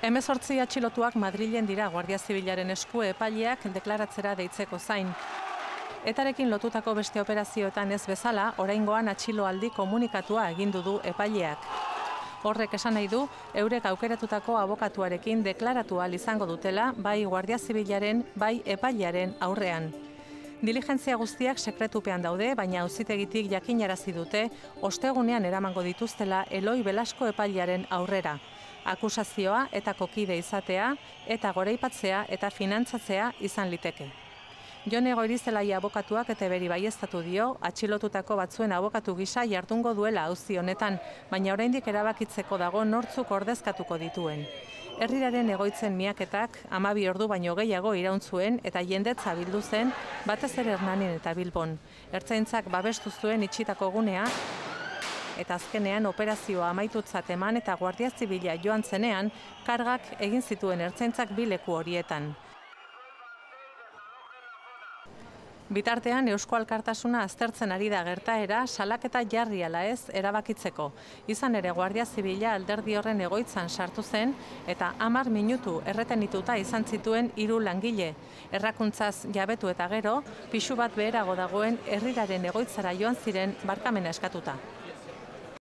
18 atxilotuak Madrilen dira Guardia Zibilaren esku epaileak deklaratzera deitzeko zain. Etarekin lotutako beste operazioetan ez bezala, oraingoan atxiloaldi komunikatua egindu du epaileak. Horrek esan nahi du, eurek aukeratutako abokatuarekin deklaratu ahal izango dutela, bai Guardia Zibilaren, bai epailearen aurrean. Diligentzia guztiak sekretupean daude, baina auzitegitik jakinarazi dute, ostegunean eramango dituztela Eloi Belasko epailearen aurrera. Akusazioa eta kokide izatea, eta goraipatzea eta finantzatzea izan liteke. Jone Goirizelaia abokatuak eta beri baieztatu dio, atxilotutako batzuen abokatu gisa jardungo duela auzi honetan, baina oraindik erabakitzeko dago nortzuk ordezkatuko dituen. Herriraren egoitzen miaketak 12 ordu baino gehiago iraun zuen eta jendetza bildu zen, batez ere Hernanin eta Bilbon. Ertzaintzak babestu zuen itxitako gunea, eta azkenean operazioa amaitutzat eman eta Guardia Zibila joan zenean, kargak egin zituen ertzaintzak bi leku horietan. Bitartean, Eusko Alkartasuna aztertzen ari da gertaera salaketa jarri ala ez erabakitzeko. Izan ere Guardia Zibila alderdi horren egoitzan sartu zen eta 10 minutu erretenituta izan zituen 3 langile. Errakuntzaz jabetu eta gero, pisu bat beherago dagoen herriraren egoitzara joan ziren barkamena eskatuta.